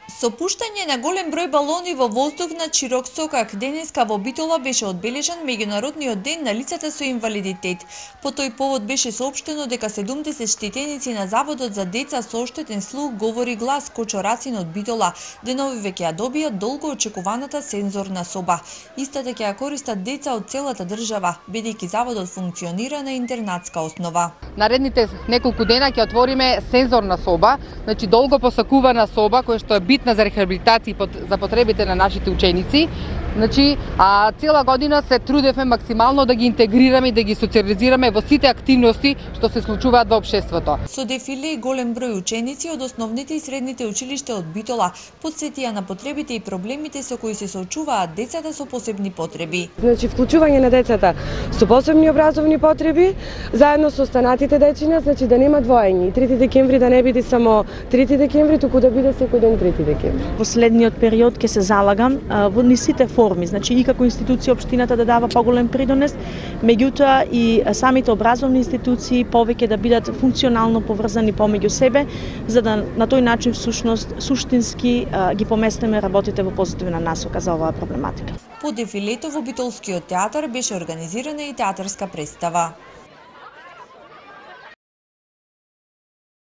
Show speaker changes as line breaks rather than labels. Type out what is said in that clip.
Со пуштање на голем број балони во воздух над широк сокак, денеска во Битола беше одбележан меѓународниот ден на лицата со инвалидитет. По тој повод беше соопштено дека 70 штетеници на Заводот за деца со оштетен слух говори глас Кочо Рацин од Битола деновиве ќе ја добијат долго очекуваната сензорна соба. Истата ќе ја користат деца од целата држава, бидејќи заводот функционира на интернатска основа.
Наредните неколку дена ќе отвориме сензорна соба, значи долго посакувана соба која што е битна за рехабилитација за потребите на нашите ученици. Значи, цела година се трудевме максимално да ги интегрираме и да ги социализираме во сите активности што се случуваат во општеството.
Со дефиле и голем број ученици од основните и средните училишта од Битола потсетија на потребите и проблемите со кои се соочуваат децата со посебни потреби.
Значи, вклучување на децата со посебни образовни потреби, заедно со останатите дечиња, значи да нема двоење. 3 декември да не биде само 3 декември, туку да биде секој ден 3 декември.
Во следниот период ќе се залагам во сите форми, значи и како институција општината да дава поголем придонес, меѓутоа и самите образовни институции повеќе да бидат функционално поврзани помеѓу себе, за да на тој начин всушност суштински ги поместиме работите во позитивна насока за оваа проблематика.
По дефилето во Битолскиот театар беше организирана и театарска представа.